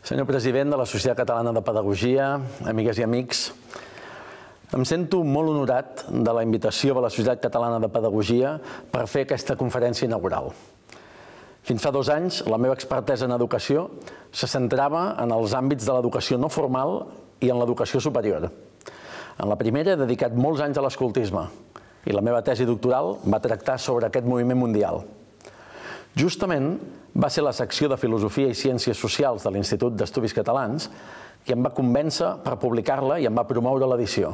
Senyor president de la Societat Catalana de Pedagogia, amigues i amics, em sento molt honorat de la invitació de la Societat Catalana de Pedagogia per fer aquesta conferència inaugural. Fins fa 2 anys, la meva expertesa en educació se centrava en els àmbits de l'educació no formal i en l'educació superior. En la primera he dedicat molts anys a l'escoltisme i la meva tesi doctoral va tractar sobre aquest moviment mundial. Justament va ser la secció de Filosofia i Ciències Socials de l'Institut d'Estudis Catalans qui em va convèncer per publicar-la i em va promoure l'edició.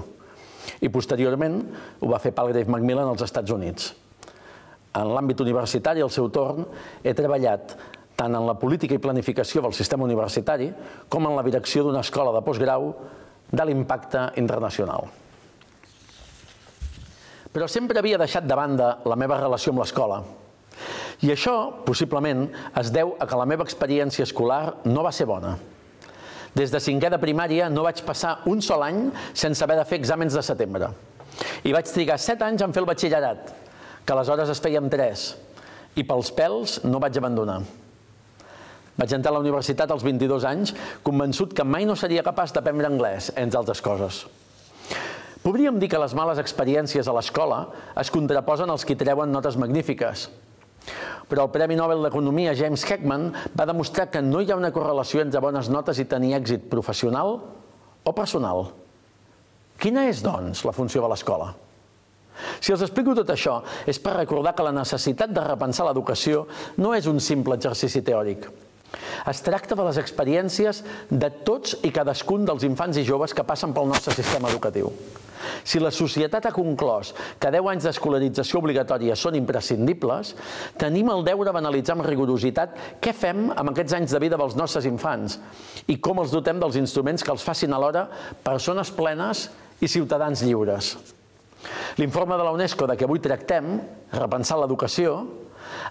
I posteriorment ho va fer Palgrave Macmillan als Estats Units. En l'àmbit universitari, al seu torn, he treballat tant en la política i planificació del sistema universitari com en la direcció d'una escola de postgrau d'alt impacte internacional. Però sempre havia deixat de banda la meva relació amb l'escola. I això, possiblement, es deu a que la meva experiència escolar no va ser bona. Des de 5è de primària no vaig passar un sol any sense haver de fer exàmens de setembre. I vaig trigar 7 anys en fer el batxillerat, que aleshores es feia amb 3, i pels pèls no vaig abandonar. Vaig entrar a la universitat als 22 anys, convençut que mai no seria capaç d'aprendre anglès, entre altres coses. Podríem dir que les males experiències a l'escola es contraposen als qui treuen notes magnífiques. Però el Premi Nobel d'Economia James Heckman va demostrar que no hi ha una correlació entre bones notes i tenir èxit professional o personal. Quina és, doncs, la funció de l'escola? Si els explico tot això, és per recordar que la necessitat de repensar l'educació no és un simple exercici teòric. Es tracta de les experiències de tots i cadascun dels infants i joves que passen pel nostre sistema educatiu. Si la societat ha conclòs que 10 anys d'escolarització obligatòria són imprescindibles, tenim el deure d'analitzar amb rigorositat què fem amb aquests anys de vida dels nostres infants i com els dotem dels instruments que els facin alhora persones plenes i ciutadans lliures. L'informe de la UNESCO de què avui tractem, Repensar l'educació,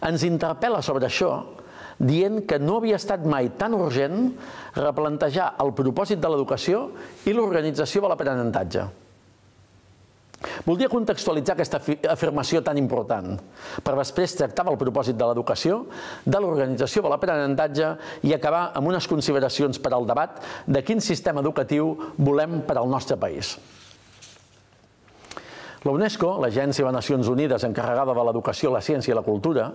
ens interpel·la sobre això, dient que no havia estat mai tan urgent replantejar el propòsit de l'educació i l'organització de l'aprenentatge. Voldria contextualitzar aquesta afirmació tan important, per després tractar del propòsit de l'educació, de l'organització de l'aprenentatge i acabar amb unes consideracions per al debat de quin sistema educatiu volem per al nostre país. La UNESCO, l'Agència de Nacions Unides encarregada de l'educació, la ciència i la cultura,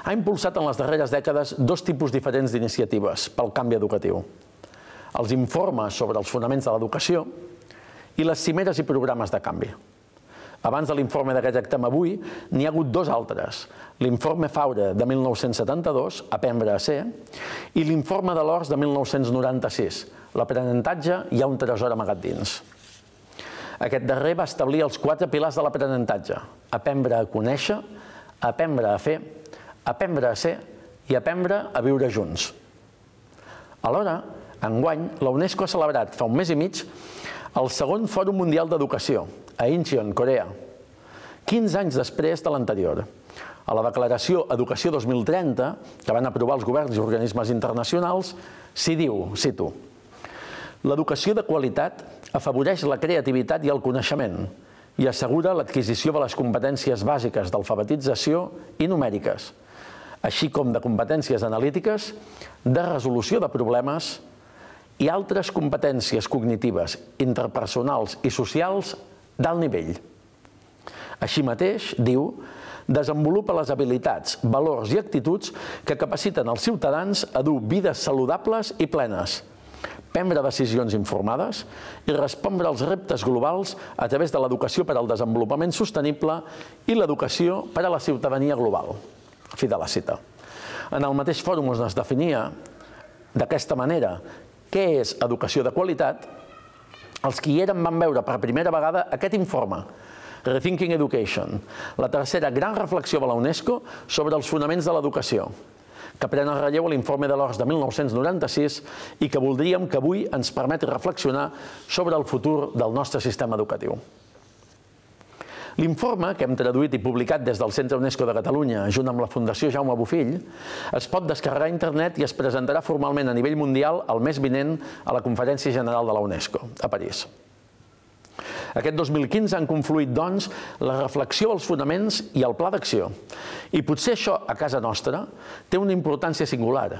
ha impulsat en les darreres dècades 2 tipus diferents d'iniciatives pel canvi educatiu. Els informes sobre els fonaments de l'educació i les cimeres i programes de canvi. Abans de l'informe de què tractem avui, n'hi ha hagut 2 altres. L'informe Faure de 1972, Aprendre a ser, i l'informe de l'Ors de 1996, L'aprenentatge hi ha un tresor amagat dins. Aquest darrer va establir els 4 pilars de l'aprenentatge: aprendre a conèixer, aprendre a fer, aprendre a ser i aprendre a viure junts. Alhora, enguany, la UNESCO ha celebrat fa un mes i mig el 2è Fòrum Mundial d'Educació, a Incheon, Corea, 15 anys després de l'anterior. A la declaració Educació 2030, que van aprovar els governs i organismes internacionals, s'hi diu, cito: l'educació de qualitat afavoreix la creativitat i el coneixement i assegura l'adquisició de les competències bàsiques d'alfabetització i numèriques, així com de competències analítiques, de resolució de problemes i altres competències cognitives, interpersonals i socials d'alt nivell. Així mateix, diu, desenvolupa les habilitats, valors i actituds que capaciten els ciutadans a dur vides saludables i plenes, prendre decisions informades i respondre als reptes globals a través de l'educació per al desenvolupament sostenible i l'educació per a la ciutadania global. Fi de la cita. En el mateix fòrum es definia d'aquesta manera què és educació de qualitat. Els que hi eren van veure per primera vegada aquest informe, Rethinking Education, la tercera gran reflexió de la UNESCO sobre els fonaments de l'educació, que pren el relleu a l'informe de l'Ors de 1996 i que voldríem que avui ens permeti reflexionar sobre el futur del nostre sistema educatiu. L'informe, que hem traduït i publicat des del Centre UNESCO de Catalunya, junt amb la Fundació Jaume Bofill, es pot descarregar a internet i es presentarà formalment a nivell mundial el mes vinent a la Conferència General de la UNESCO, a París. Aquest 2015 han confluït, doncs, la reflexió dels fonaments i el pla d'acció. I potser això, a casa nostra, té una importància singular,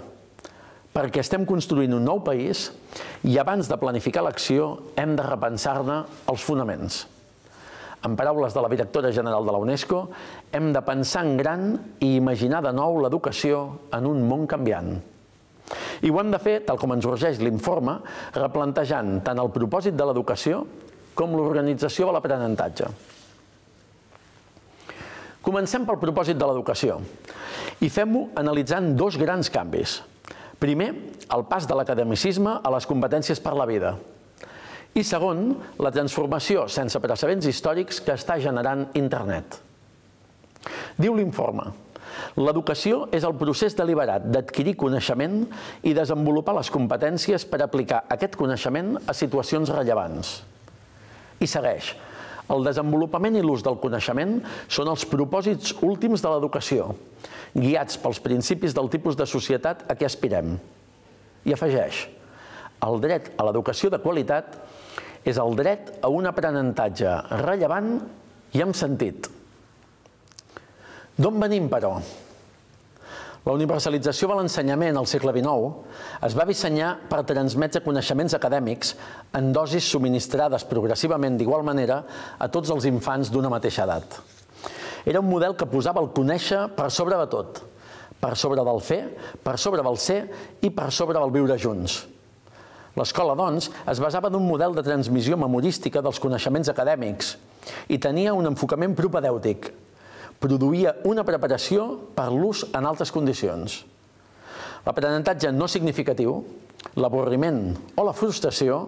perquè estem construint un nou país i abans de planificar l'acció hem de repensar-ne els fonaments. En paraules de la directora general de la UNESCO, hem de pensar en gran i imaginar de nou l'educació en un món canviant. I ho hem de fer, tal com ens urgeix l'informe, replantejant tant el propòsit de l'educació com l'organització de l'aprenentatge. Comencem pel propòsit de l'educació i fem-ho analitzant dos grans canvis. Primer, el pas de l'academicisme a les competències per la vida. I segon, la transformació sense precedents històrics que està generant Internet. Diu l'informe: l'educació és el procés deliberat d'adquirir coneixement i desenvolupar les competències per aplicar aquest coneixement a situacions rellevants. I segueix: el desenvolupament i l'ús del coneixement són els propòsits últims de l'educació, guiats pels principis del tipus de societat a què aspirem. I afegeix: el dret a l'educació de qualitat és el dret a un aprenentatge rellevant i amb sentit. D'on venim, però? La universalització de l'ensenyament al segle XIX es va dissenyar per transmetre coneixements acadèmics en dosis subministrades progressivament d'igual manera a tots els infants d'una mateixa edat. Era un model que posava el conèixer per sobre de tot, per sobre del fer, per sobre del ser i per sobre del viure junts. L'escola, doncs, es basava en un model de transmissió memorística dels coneixements acadèmics i tenia un enfocament propedèutic. Produïa una preparació per l'ús en altres condicions. L'aprenentatge no significatiu, l'avorriment o la frustració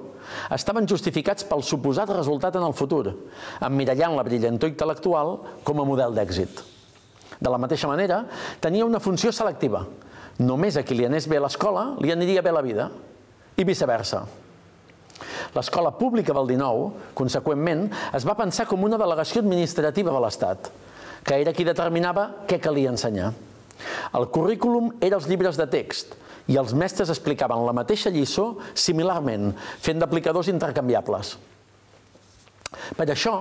estaven justificats pel suposat resultat en el futur, emmirallant la brillantor intel·lectual com a model d'èxit. De la mateixa manera, tenia una funció selectiva. Només a qui li anés bé a l'escola li aniria bé la vida, i viceversa. L'escola pública del XIX, conseqüentment, es va pensar com una delegació administrativa de l'Estat, que era qui determinava què calia ensenyar. El currículum era els llibres de text i els mestres explicaven la mateixa lliçó similarment, fent d'aplicadors intercanviables. Per això,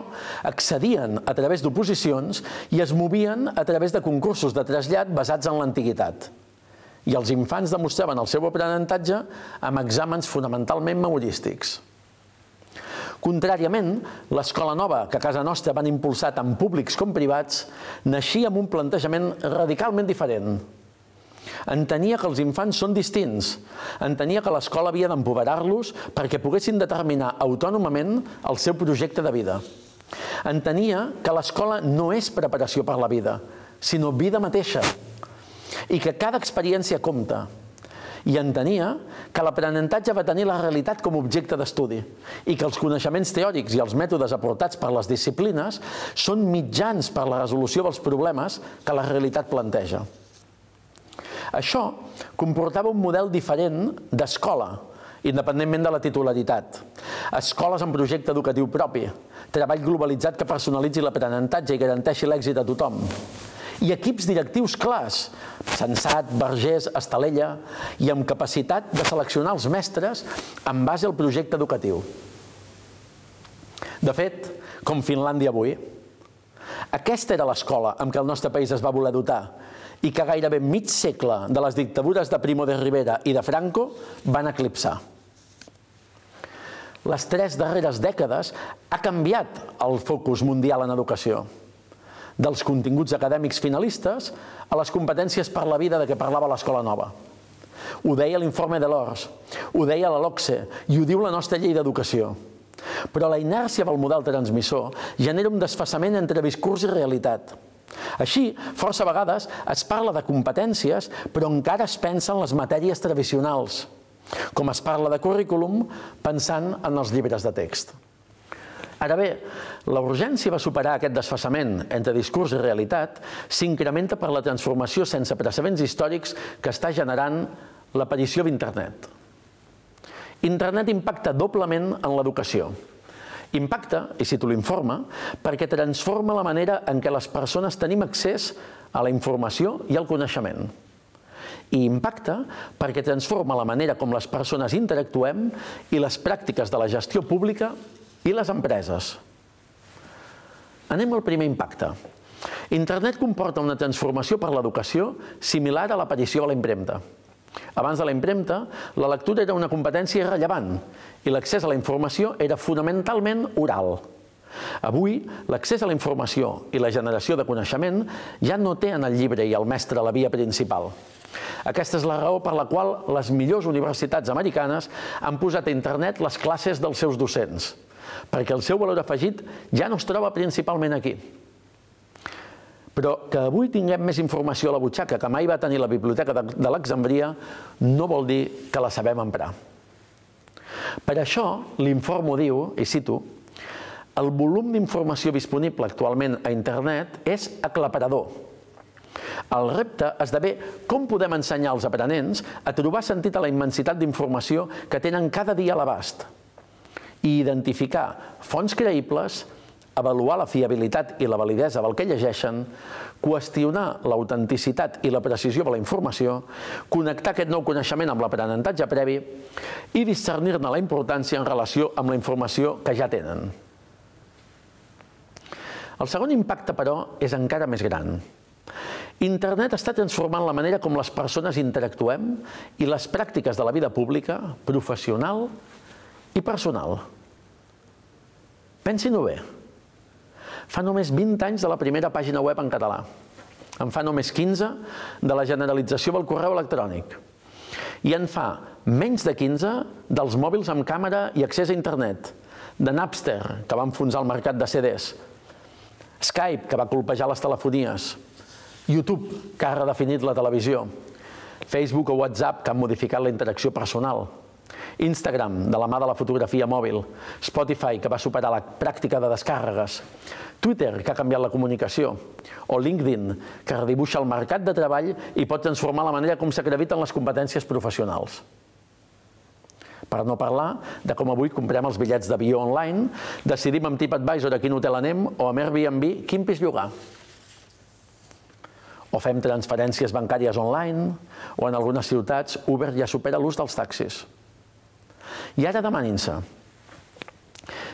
accedien a través d'oposicions i es movien a través de concursos de trasllat basats en l'antiguitat. I els infants demostraven el seu aprenentatge amb exàmens fonamentalment memorístics. Contràriament, l'escola nova que a casa nostra van impulsar tant públics com privats naixia amb un plantejament radicalment diferent. Entenia que els infants són distints, entenia que l'escola havia d'empoderar-los perquè poguessin determinar autònomament el seu projecte de vida. Entenia que l'escola no és preparació per la vida, sinó vida mateixa, i que cada experiència compta. I entenia que l'aprenentatge va tenir la realitat com a objecte d'estudi i que els coneixements teòrics i els mètodes aportats per les disciplines són mitjans per a la resolució dels problemes que la realitat planteja. Això comportava un model diferent d'escola, independentment de la titularitat. Escoles amb projecte educatiu propi, treball globalitzat que personalitzi l'aprenentatge i garanteixi l'èxit a tothom. I equips directius clars, Sensat, Vergés, Estalella, i amb capacitat de seleccionar els mestres en base al projecte educatiu. De fet, com Finlàndia avui, aquesta era l'escola amb què el nostre país es va voler dotar i que gairebé mig segle de les dictadures de Primo de Rivera i de Franco van eclipsar. Les 3 darreres dècades ha canviat el focus mundial en educació, dels continguts acadèmics finalistes a les competències per la vida de què parlava l'escola nova. Ho deia l'informe de l'ORS, ho deia la LOCSE i ho diu la nostra llei d'educació. Però la inèrcia del model transmissor genera un desfasament entre discurs i realitat. Així, força vegades es parla de competències, però encara es pensa en les matèries tradicionals, com es parla de currículum pensant en els llibres de text. Ara bé, la urgència de superar aquest desfasament entre discurs i realitat s'incrementa per la transformació sense precedents històrics que està generant l'aparició d'Internet. Internet impacta doblement en l'educació. Impacta, i cito l'informe, perquè transforma la manera en què les persones tenim accés a la informació i al coneixement. I impacta perquè transforma la manera com les persones interactuem i les pràctiques de la gestió pública i les empreses. Anem al primer impacte. Internet comporta una transformació per l'educació similar a l'aparició de la impremta. Abans de la impremta, la lectura era una competència irrellevant i l'accés a la informació era fonamentalment oral. Avui, l'accés a la informació i la generació de coneixement ja no té en el llibre i el mestre la via principal. Aquesta és la raó per la qual les millors universitats americanes han posat a internet les classes dels seus docents, perquè el seu valor afegit ja no es troba principalment aquí. Però que avui tinguem més informació a la butxaca que mai va tenir la Biblioteca d'Alexandria no vol dir que la sabem emprar. Per això, l'informe diu, i cito, el volum d'informació disponible actualment a internet és aclaparador. El repte esdevé com podem ensenyar als aprenents a trobar sentit a la immensitat d'informació que tenen cada dia a l'abast i identificar fonts creïbles, avaluar la fiabilitat i la validesa del que llegeixen, qüestionar l'autenticitat i la precisió de la informació, connectar aquest nou coneixement amb l'aprenentatge previ i discernir-ne la importància en relació amb la informació que ja tenen. El segon impacte, però, és encara més gran. Internet està transformant la manera com les persones interactuem i les pràctiques de la vida pública, professional i personal. Pensin-ho bé. Fa només 20 anys de la primera pàgina web en català. En fa només 15 de la generalització del correu electrònic. I en fa menys de 15 dels mòbils amb càmera i accés a internet, de Napster, que va enfonsar el mercat de CDs, Skype, que va colpejar les telefonies, YouTube, que ha redefinit la televisió, Facebook o WhatsApp, que han modificat la interacció personal, Instagram, de la mà de la fotografia mòbil, Spotify, que va superar la pràctica de descàrregues, Twitter, que ha canviat la comunicació, o LinkedIn, que redibuixa el mercat de treball i pot transformar la manera com s'acrediten les competències professionals. Per no parlar de com avui comprem els bitllets d'avió online, decidim amb TripAdvisor a quin hotel anem o amb Airbnb quin pis llogar. O fem transferències bancàries online, o en algunes ciutats Uber ja supera l'ús dels taxis. I ara demanin-se,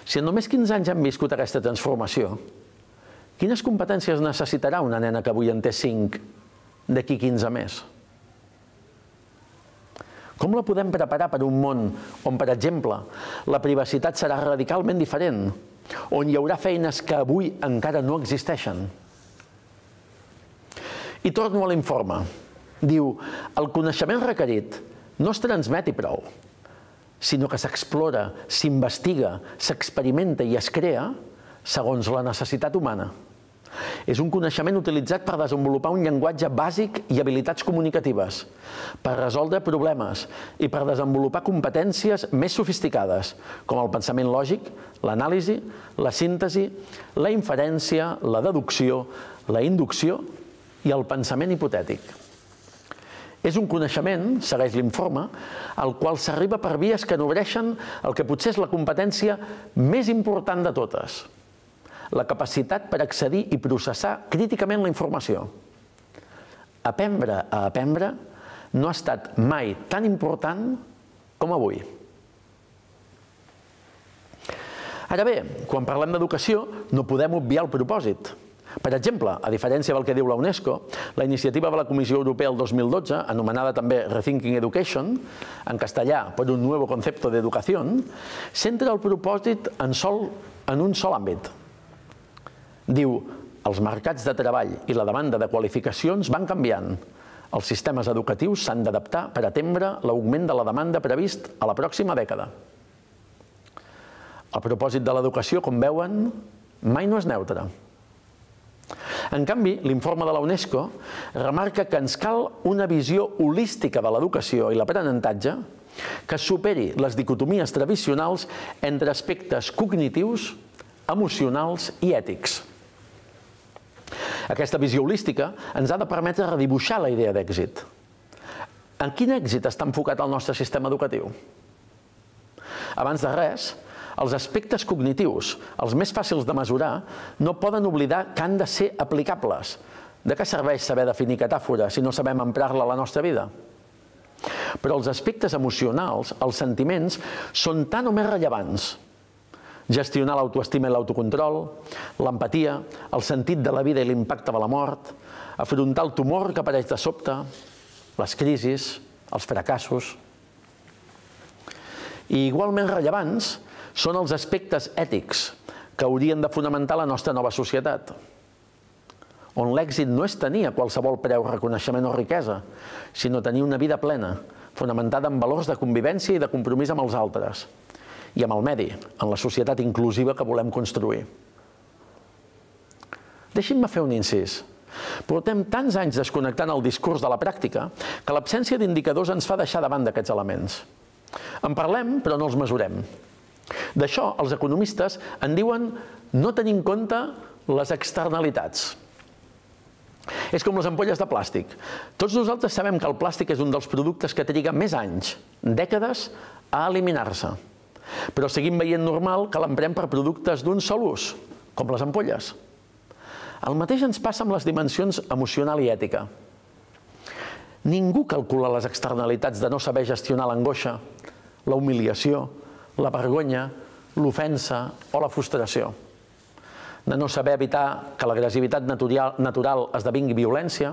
si en només 15 anys hem viscut aquesta transformació, quines competències necessitarà una nena que avui en té 5 d'aquí 15 més? Com la podem preparar per un món on, per exemple, la privacitat serà radicalment diferent, on hi haurà feines que avui encara no existeixen? I torno a l'informe. Diu, el coneixement requerit no es transmet i prou, sinó que s'explora, s'investiga, s'experimenta i es crea segons la necessitat humana. És un coneixement utilitzat per desenvolupar un llenguatge bàsic i habilitats comunicatives, per resoldre problemes i per desenvolupar competències més sofisticades, com el pensament lògic, l'anàlisi, la síntesi, la inferència, la deducció, la inducció i el pensament hipotètic. És un coneixement, segueix l'informe, al qual s'arriba per vies que nodreixen el que potser és la competència més important de totes, la capacitat per accedir i processar críticament la informació. Aprendre a aprendre no ha estat mai tan important com avui. Ara bé, quan parlem d'educació, no podem obviar el propòsit. Per exemple, a diferència del que diu la UNESCO, la iniciativa de la Comissió Europea el 2012, anomenada també Rethinking Education, en castellà, per un nuevo concepto de educación, centra el propòsit en un sol àmbit. Diu, els mercats de treball i la demanda de qualificacions van canviant. Els sistemes educatius s'han d'adaptar per atendre l'augment de la demanda previst a la pròxima dècada. El propòsit de l'educació, com veuen, mai no és neutre. En canvi, l'informe de la UNESCO remarca que ens cal una visió holística de l'educació i l'aprenentatge que superi les dicotomies tradicionals entre aspectes cognitius, emocionals i ètics. Aquesta visió holística ens ha de permetre redibuixar la idea d'èxit. En quin èxit està enfocat el nostre sistema educatiu? Abans de res, els aspectes cognitius, els més fàcils de mesurar, no poden oblidar que han de ser aplicables. De què serveix saber definir catàfora si no sabem emprar-la a la nostra vida? Però els aspectes emocionals, els sentiments, són tan o més rellevants. Gestionar l'autoestima i l'autocontrol, l'empatia, el sentit de la vida i l'impacte de la mort, afrontar el tumor que apareix de sobte, les crisis, els fracassos. I igualment rellevants són els aspectes ètics que haurien de fonamentar la nostra nova societat, on l'èxit no és tenir a qualsevol preu reconeixement o riquesa, sinó tenir una vida plena, fonamentada en valors de convivència i de compromís amb els altres, i amb el medi, en la societat inclusiva que volem construir. Deixin-me fer un incís. Portem tants anys desconnectant el discurs de la pràctica que l'absència d'indicadors ens fa deixar de banda aquests elements. En parlem, però no els mesurem. D'això, els economistes en diuen no tenir en compte les externalitats. És com les ampolles de plàstic. Tots nosaltres sabem que el plàstic és un dels productes que triga més anys, dècades, a eliminar-se. Però seguim veient normal que l'emprem per productes d'un sol ús, com les ampolles. El mateix ens passa amb les dimensions emocional i ètica. Ningú calcula les externalitats de no saber gestionar l'angoixa, la humiliació, la vergonya, l'ofensa o la frustració. De no saber evitar que l'agressivitat natural esdevingui violència,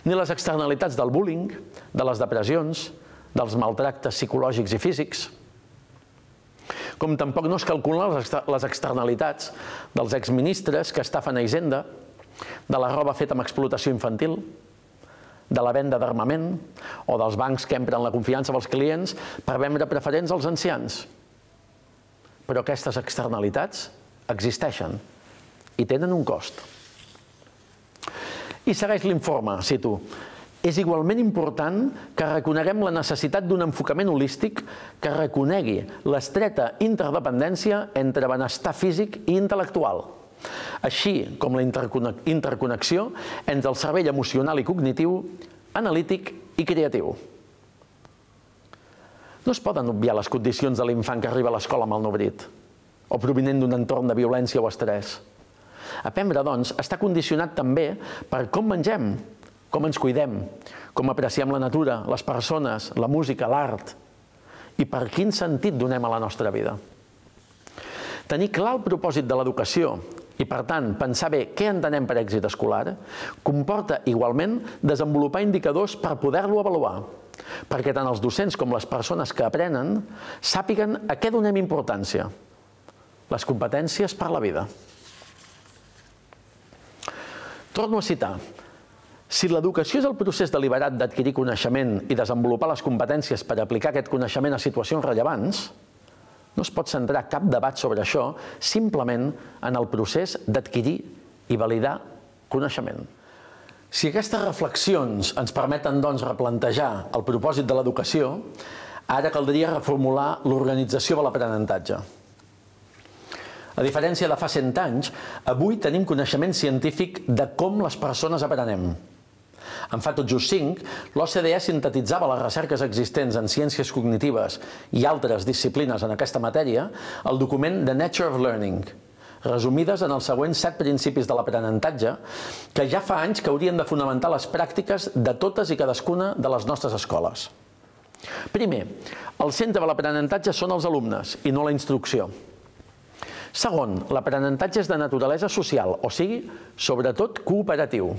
ni les externalitats del bullying, de les depressions, dels maltractes psicològics i físics. Com tampoc no es calculen les externalitats dels exministres que estafen a Hisenda, de la roba feta amb explotació infantil, de la venda d'armament o dels bancs que empren la confiança dels clients per vendre preferents als ancians. Però aquestes externalitats existeixen i tenen un cost. I segueix l'informe, cito, és igualment important que reconeguem la necessitat d'un enfocament holístic que reconegui l'estreta interdependència entre benestar físic i intel·lectual, així com la interconnexió entre el cervell emocional i cognitiu, analític i creatiu. No es poden obviar les condicions de l'infant que arriba a l'escola malnodrit o provinent d'un entorn de violència o estrès. Aprendre, doncs, està condicionat també per com mengem, com ens cuidem, com apreciem la natura, les persones, la música, l'art i per quin sentit donem a la nostra vida. Tenir clar el propòsit de l'educació i, per tant, pensar bé què entenem per èxit escolar comporta igualment desenvolupar indicadors per poder-lo avaluar, perquè tant els docents com les persones que aprenen sàpiguen a què donem importància, les competències per la vida. Torno a citar, si l'educació és el procés deliberat d'adquirir coneixement i desenvolupar les competències per aplicar aquest coneixement a situacions rellevants, no es pot centrar cap debat sobre això simplement en el procés d'adquirir i validar coneixement. Si aquestes reflexions ens permeten, doncs, replantejar el propòsit de l'educació, ara caldria reformular l'organització de l'aprenentatge. A diferència de fa 100 anys, avui tenim coneixement científic de com les persones aprenem. En fa tot just 5, l'OCDE sintetitzava les recerques existents en ciències cognitives i altres disciplines en aquesta matèria al document The Nature of Learning, resumides en els següents 7 principis de l'aprenentatge que ja fa anys que haurien de fonamentar les pràctiques de totes i cadascuna de les nostres escoles. Primer, el centre de l'aprenentatge són els alumnes i no la instrucció. Segon, l'aprenentatge és de naturalesa social, o sigui, sobretot cooperatiu.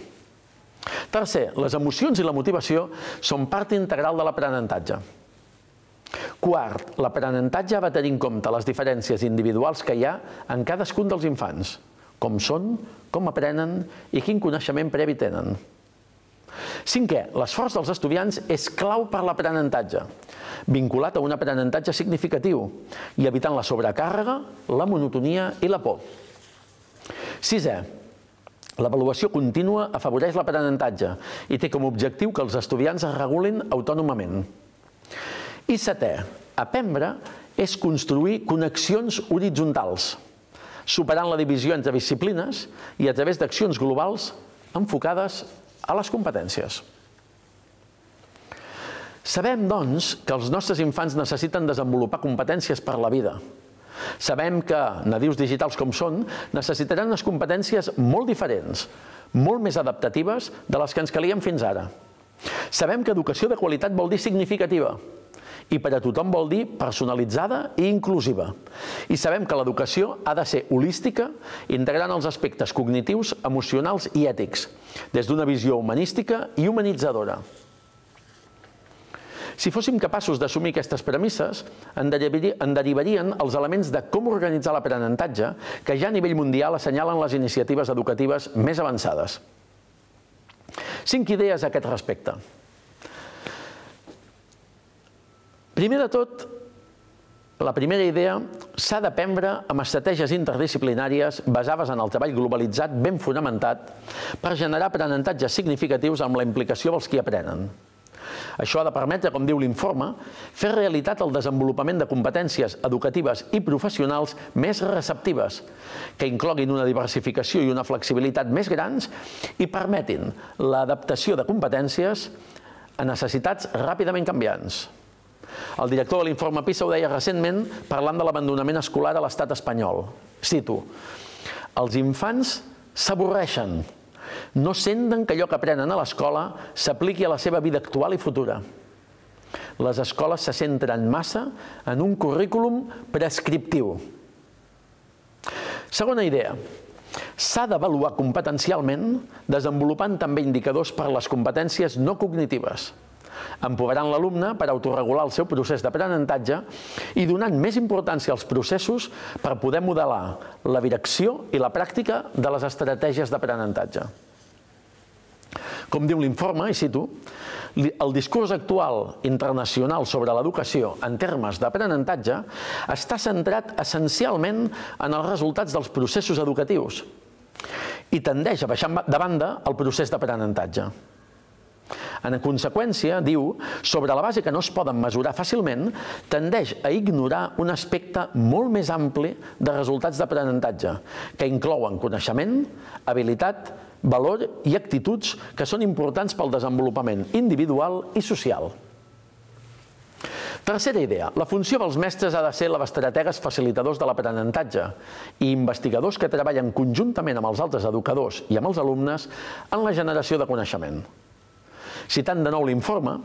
Tercer, les emocions i la motivació són part integral de l'aprenentatge. Quart, l'aprenentatge ha de tenir en compte les diferències individuals que hi ha en cadascun dels infants, com són, com aprenen i quin coneixement previ tenen. Cinquè, l'esforç dels estudiants és clau per l'aprenentatge, vinculat a un aprenentatge significatiu i evitant la sobrecàrrega, la monotonia i la por. Sisè, l'avaluació contínua afavoreix l'aprenentatge i té com a objectiu que els estudiants es regulin autònomament. I setè, aprendre és construir connexions horitzontals, superant la divisió entre disciplines i a través d'accions globals enfocades a les competències. Sabem, doncs, que els nostres infants necessiten desenvolupar competències per la vida. Sabem que, nadius digitals com són, necessitaran unes competències molt diferents, molt més adaptatives de les que ens calien fins ara. Sabem que educació de qualitat vol dir significativa i per a tothom vol dir personalitzada i inclusiva. I sabem que l'educació ha de ser holística, integrant els aspectes cognitius, emocionals i ètics, des d'una visió humanística i humanitzadora. Si fóssim capaços d'assumir aquestes premisses, en derivarien els elements de com organitzar l'aprenentatge que ja a nivell mundial assenyalen les iniciatives educatives més avançades. 5 idees a aquest respecte. Primer de tot, la primera idea, s'ha d'aprendre amb estratègies interdisciplinàries basades en el treball globalitzat ben fonamentat per generar aprenentatges significatius amb la implicació dels qui aprenen. Això ha de permetre, com diu l'informe, fer realitat el desenvolupament de competències educatives i professionals més receptives, que incloguin una diversificació i una flexibilitat més grans i permetin l'adaptació de competències a necessitats ràpidament canviants. El director de l'informe PISA ho deia recentment parlant de l'abandonament escolar a l'estat espanyol. Cito: els infants s'avorreixen, no senten que allò que aprenen a l'escola s'apliqui a la seva vida actual i futura. Les escoles se centren massa en un currículum prescriptiu. Segona idea. S'ha d'avaluar competencialment desenvolupant també indicadors per a les competències no cognitives, empoderant l'alumne per autorregular el seu procés d'aprenentatge i donant més importància als processos per poder modelar la direcció i la pràctica de les estratègies d'aprenentatge. Com diu l'informe, i cito, el discurs actual internacional sobre l'educació en termes d'aprenentatge està centrat essencialment en els resultats dels processos educatius i tendeix a deixar de banda el procés d'aprenentatge. En conseqüència, diu, sobre la base que no es poden mesurar fàcilment, tendeix a ignorar un aspecte molt més ampli de resultats d'aprenentatge, que inclouen coneixement, habilitat, valor i actituds que són importants pel desenvolupament individual i social. Tercera idea. La funció dels mestres ha de ser la d'estrategues facilitadors de l'aprenentatge i investigadors que treballen conjuntament amb els altres educadors i amb els alumnes en la generació de coneixement. Citant de nou l'informe,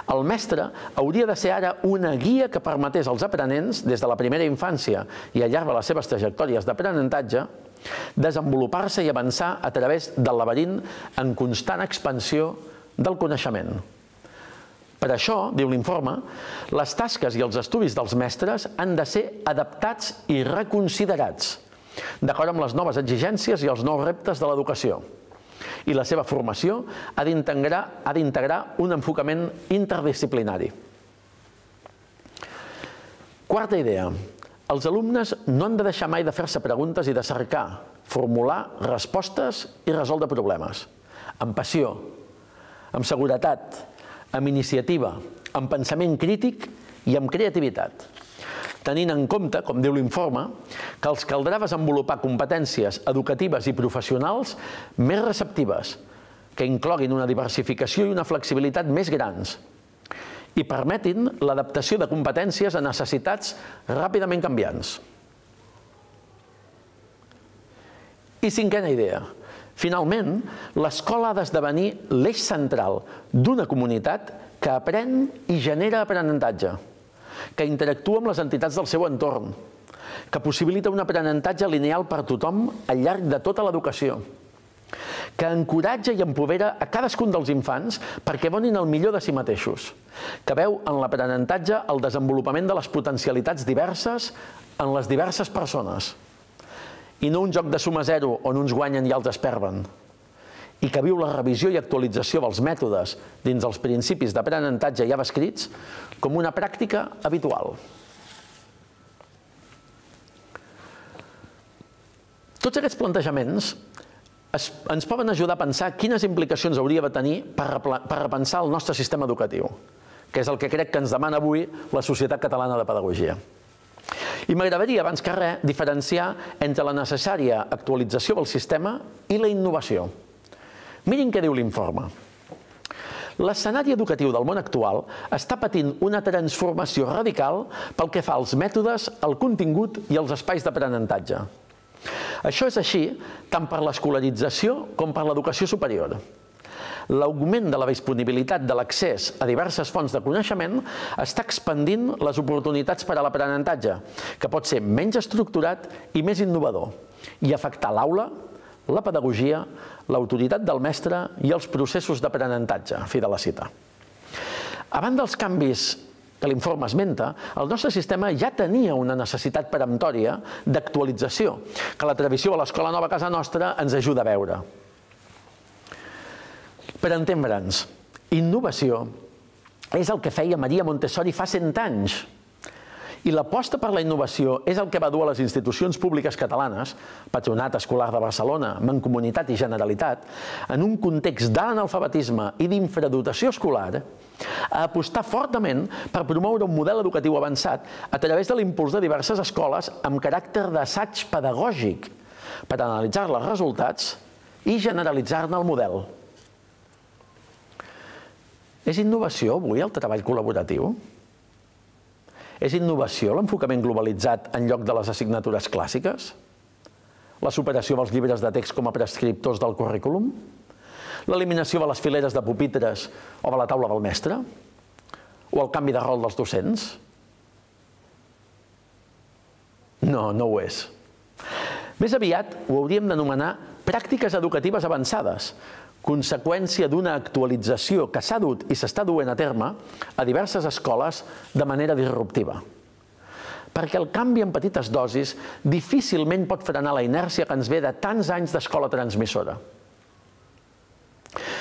el mestre hauria de ser ara una guia que permetés als aprenents, des de la primera infància i al llarg de les seves trajectòries d'aprenentatge, desenvolupar-se i avançar a través del laberint en constant expansió del coneixement. Per això, diu l'informe, les tasques i els estudis dels mestres han de ser adaptats i reconsiderats, d'acord amb les noves exigències i els nous reptes de l'educació. I la seva formació ha d'integrar un enfocament interdisciplinari. Quarta idea. Els alumnes no han de deixar mai de fer-se preguntes i de cercar, formular respostes i resoldre problemes. Amb passió, amb seguretat, amb iniciativa, amb pensament crític i amb creativitat. Tenint en compte, com diu l'informe, que els caldrà desenvolupar competències educatives i professionals més receptives, que incloguin una diversificació i una flexibilitat més grans i permetin l'adaptació de competències a necessitats ràpidament canviants. I cinquena idea. Finalment, l'escola ha d'esdevenir l'eix central d'una comunitat que aprèn i genera aprenentatge, que interactua amb les entitats del seu entorn, que possibilita un aprenentatge lineal per tothom al llarg de tota l'educació, que encoratja i empodera a cadascun dels infants perquè donin el millor de si mateixos, que veu en l'aprenentatge el desenvolupament de les potencialitats diverses en les diverses persones, i no un joc de suma zero on uns guanyen i altres perden, i que viu la revisió i actualització dels mètodes dins els principis d'aprenentatge ja escrits com una pràctica habitual. Tots aquests plantejaments ens poden ajudar a pensar quines implicacions hauria de tenir per repensar el nostre sistema educatiu, que és el que crec que ens demana avui la Societat Catalana de Pedagogia. I m'agradaria, abans que res, diferenciar entre la necessària actualització del sistema i la innovació. Mirin què diu l'informe. L'escenari educatiu del món actual està patint una transformació radical pel que fa als mètodes, al contingut i als espais d'aprenentatge. Això és així tant per l'escolarització com per l'educació superior. L'augment de la disponibilitat de l'accés a diverses fonts de coneixement està expandint les oportunitats per a l'aprenentatge, que pot ser menys estructurat i més innovador, i afectar l'aula, la pedagogia, l'autoritat del mestre i els processos d'aprenentatge, fi de la cita. Abans dels canvis que l'informe esmenta, el nostre sistema ja tenia una necessitat peremptòria d'actualització, que la tradició de l'Escola Nova a casa nostra ens ajuda a veure. Per entendre'ns, innovació és el que feia Maria Montessori fa 100 anys. I l'aposta per la innovació és el que va dur a les institucions públiques catalanes, Patronat Escolar de Barcelona, Mancomunitat i Generalitat, en un context d'analfabetisme i d'infradotació escolar, a apostar fortament per promoure un model educatiu avançat a través de l'impuls de diverses escoles amb caràcter d'assaig pedagògic per analitzar els resultats i generalitzar-ne el model. És innovació avui el treball col·laboratiu? És innovació l'enfocament globalitzat en lloc de les assignatures clàssiques? La superació dels llibres de text com a prescriptors del currículum? L'eliminació de les fileres de pupitres o de la taula del mestre? O el canvi de rol dels docents? No, no ho és. Més aviat ho hauríem d'anomenar pràctiques educatives avançades, conseqüència d'una actualització que s'ha dut i s'està duent a terme a diverses escoles de manera disruptiva. Perquè el canvi en petites dosis difícilment pot frenar la inèrcia que ens ve de tants anys d'escola transmissora.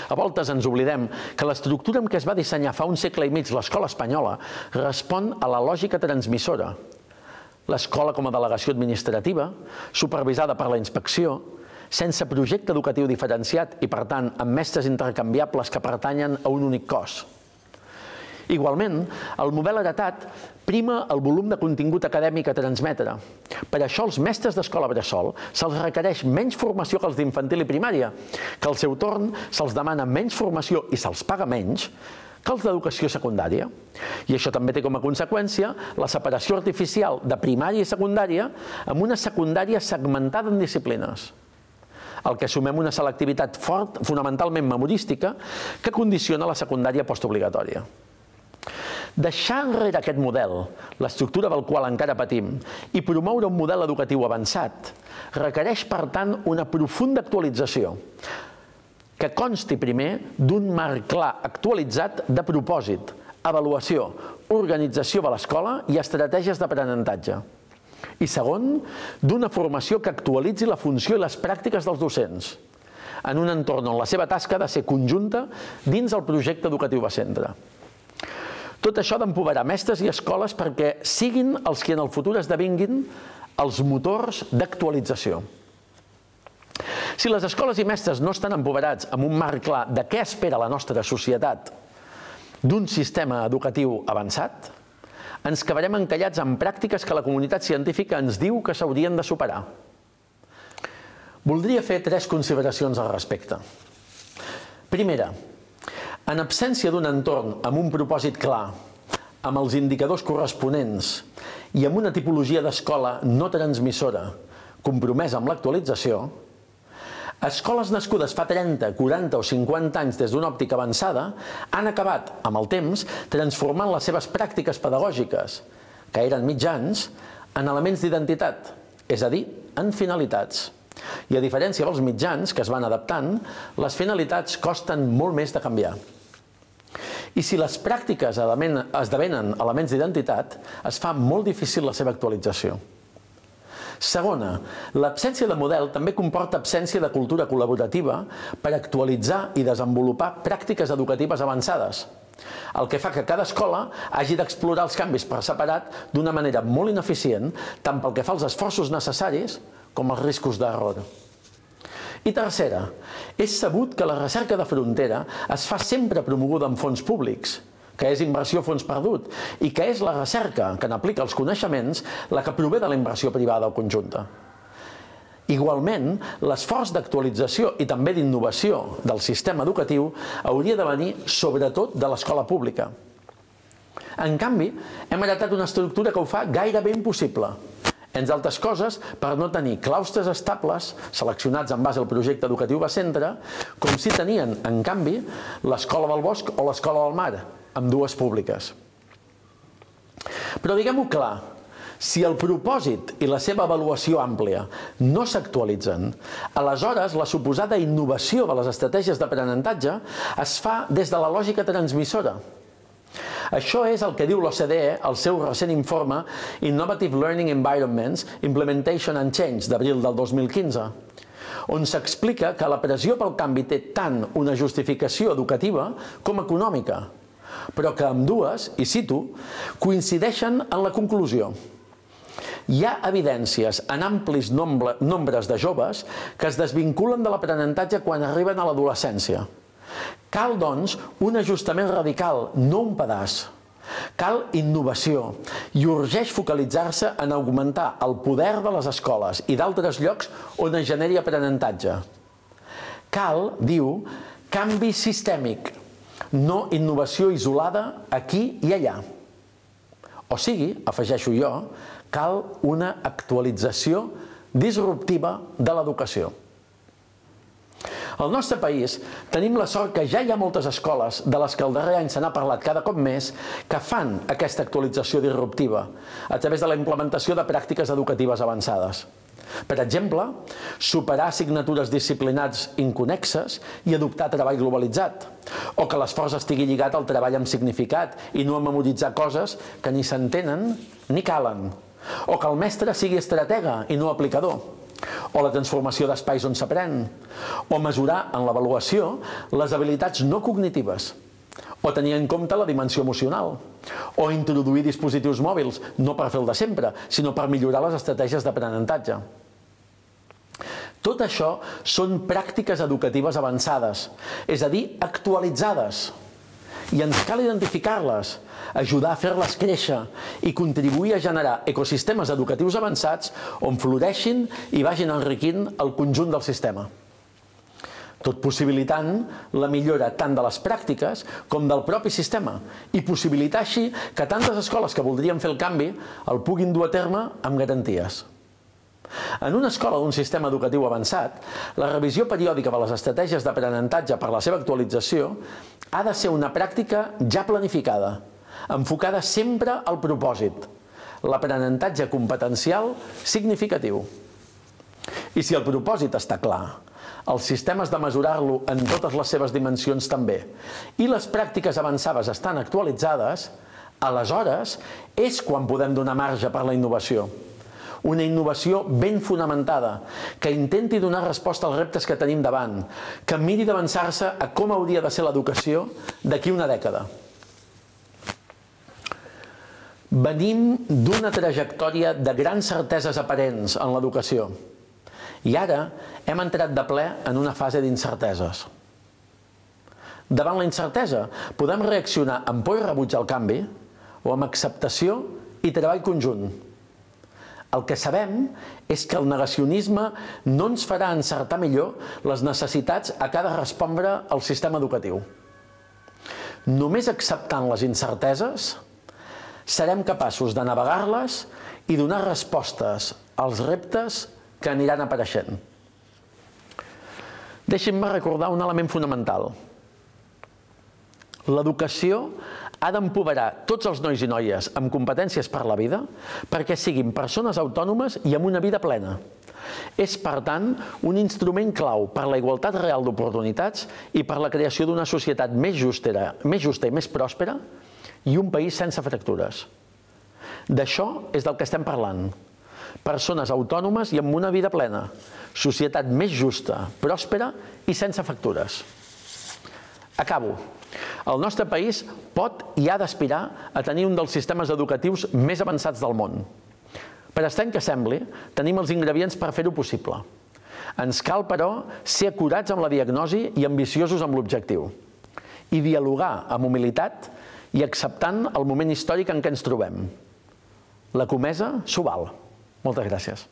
A voltes ens oblidem que l'estructura amb què es va dissenyar fa un segle i mig l'escola espanyola respon a la lògica transmissora. L'escola com a delegació administrativa, supervisada per la inspecció, sense projecte educatiu diferenciat i, per tant, amb mestres intercanviables que pertanyen a un únic cos. Igualment, el model heretat prima el volum de contingut acadèmic a transmetre. Per això als mestres d'escola bressol se'ls requereix menys formació que els d'infantil i primària, que al seu torn se'ls demana menys formació i se'ls paga menys que els d'educació secundària. I això també té com a conseqüència la separació artificial de primària i secundària amb una secundària segmentada en disciplines. El que sumem una selectivitat fonamentalment memorística que condiciona la secundària postobligatòria. Deixar enrere aquest model, l'estructura del qual encara patim, i promoure un model educatiu avançat, requereix, per tant, una profunda actualització, que consti primer d'un marc clar actualitzat de propòsit, avaluació, organització de l'escola i estratègies d'aprenentatge. I segon, d'una formació que actualitzi la funció i les pràctiques dels docents, en un entorn on la seva tasca ha de ser conjunta dins el projecte educatiu de centre. Tot això ha d'empoderar mestres i escoles perquè siguin els que en el futur esdevinguin els motors d'actualització. Si les escoles i mestres no estan empoderats amb un marc clar de què espera la nostra societat d'un sistema educatiu avançat, ens quedarem encallats en pràctiques que la comunitat científica ens diu que s'haurien de superar. Voldria fer 3 consideracions al respecte. Primera, en absència d'un entorn amb un propòsit clar, amb els indicadors corresponents i amb una tipologia d'escola no transmissora compromesa amb l'actualització, escoles nascudes fa 30, 40 o 50 anys des d'una òptica avançada han acabat, amb el temps, transformant les seves pràctiques pedagògiques, que eren mitjans, en elements d'identitat, és a dir, en finalitats. I a diferència dels mitjans que es van adaptant, les finalitats costen molt més de canviar. I si les pràctiques esdevenen elements d'identitat, es fa molt difícil la seva actualització. Segona, l'absència de model també comporta absència de cultura col·laborativa per actualitzar i desenvolupar pràctiques educatives avançades, el que fa que cada escola hagi d'explorar els canvis per separat d'una manera molt ineficient, tant pel que fa als esforços necessaris com als riscos d'error. I tercera, és sabut que la recerca de frontera es fa sempre promoguda amb fons públics, que és inversió a fons perdut, i que és la recerca que n'aplica els coneixements la que prové de la inversió privada o conjunta. Igualment, l'esforç d'actualització i també d'innovació del sistema educatiu hauria de venir sobretot de l'escola pública. En canvi, hem heretat una estructura que ho fa gairebé impossible, entre altres coses, per no tenir claustres estables seleccionats en base al projecte educatiu de centre, com si tenien, en canvi, l'Escola del Bosc o l'Escola del Mar, ambdues públiques. Però diguem-ho clar, si el propòsit i la seva avaluació àmplia no s'actualitzen, aleshores la suposada innovació de les estratègies d'aprenentatge es fa des de la lògica transmissora. Això és el que diu l'OCDE al seu recent informe Innovative Learning Environments, Implementation and Change, d'abril del 2015, on s'explica que la pressió pel canvi té tant una justificació educativa com econòmica, però que ambdues, i cito, coincideixen en la conclusió. Hi ha evidències en amplis nombres de joves que es desvinculen de l'aprenentatge quan arriben a l'adolescència. Cal, doncs, un ajustament radical, no un pedaç. Cal innovació i urgeix focalitzar-se en augmentar el poder de les escoles i d'altres llocs on es generi aprenentatge. Cal, diu, canvi sistèmic, no innovació isolada aquí i allà. O sigui, afegeixo jo, cal una actualització disruptiva de l'educació. Al nostre país tenim la sort que ja hi ha moltes escoles, de les que el darrer any se n'ha parlat cada cop més, que fan aquesta actualització disruptiva a través de la implementació de pràctiques educatives avançades. Per exemple, superar assignatures disciplinars inconnexes i adoptar treball globalitzat, o que l'esforç estigui lligat al treball amb significat i no a memoritzar coses que ni s'entenen ni calen, o que el mestre sigui estratega i no aplicador, o la transformació d'espais on s'aprèn, o mesurar en l'avaluació les habilitats no cognitives, o tenir en compte la dimensió emocional, o introduir dispositius mòbils, no per fer el de sempre, sinó per millorar les estratègies d'aprenentatge. Tot això són pràctiques educatives avançades, és a dir, actualitzades, i ens cal identificar-les, ajudar a fer-les créixer i contribuir a generar ecosistemes educatius avançats on floreixin i vagin enriquint el conjunt del sistema. Tot possibilitant la millora tant de les pràctiques com del propi sistema i possibilitar així que tantes escoles que voldrien fer el canvi el puguin dur a terme amb garanties. En una escola d'un sistema educatiu avançat, la revisió periòdica de les estratègies d'aprenentatge per la seva actualització ha de ser una pràctica ja planificada, enfocada sempre al propòsit, l'aprenentatge competencial significatiu. I si el propòsit està clar, els sistemes de mesurar-lo en totes les seves dimensions també, i les pràctiques avançades estan actualitzades, aleshores és quan podem donar marge per la innovació. Una innovació ben fonamentada, que intenti donar resposta als reptes que tenim davant, que miri d'avançar-se a com hauria de ser l'educació d'aquí una dècada. Venim d'una trajectòria de grans certeses aparents en l'educació i ara hem entrat de ple en una fase d'incerteses. Davant la incertesa podem reaccionar amb por i rebuig al canvi o amb acceptació i treball conjunt. El que sabem és que el negacionisme no ens farà encertar millor les necessitats a què ha de respondre el sistema educatiu. Només acceptant les incerteses serem capaços de navegar-les i donar respostes als reptes que aniran apareixent. Deixin-me recordar un element fonamental. L'educació ha d'empoderar tots els nois i noies amb competències per la vida perquè siguin persones autònomes i amb una vida plena. És, per tant, un instrument clau per la igualtat real d'oportunitats i per la creació d'una societat més justa i més pròspera i un país sense fractures. D'això és del que estem parlant. Persones autònomes i amb una vida plena. Societat més justa, pròspera i sense fractures. Acabo. El nostre país pot i ha d'aspirar a tenir un dels sistemes educatius més avançats del món. Per estrany que sembli, tenim els ingredients per fer-ho possible. Ens cal, però, ser acurats amb la diagnosi i ambiciosos amb l'objectiu. I dialogar amb humilitat i acceptant el moment històric en què ens trobem. La comesa s'ho val. Moltes gràcies.